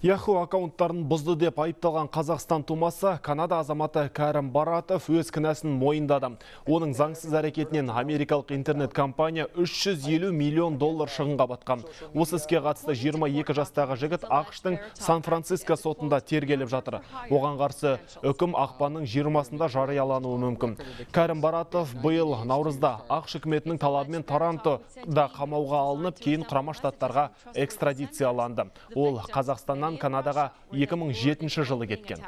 Yahoo аккаунттарын бұзды деп айыпталған Қазақстан тумасы Канада азаматы Кәрім Баратов өз кінәсін мойындады. Оның заңсыз әрекетінен америкалық интернет-компания $350 миллион шығынға батқан. Осы іске қатысты 22 жастағы жігіт ақш-тың Сан-Франциско сотында тергеліп жатыр. Оған қарсы үкім ақпанның 20-сында жариялануы мүмкін. Кәрім Баратов биыл наурызда ақш үкіметінің талабымен Торонтода қамауға алынып, кейін Құрама Штаттарға экстрадицияланды. Ол Қазақстаннан Канадаға 2007 жылы кеткен.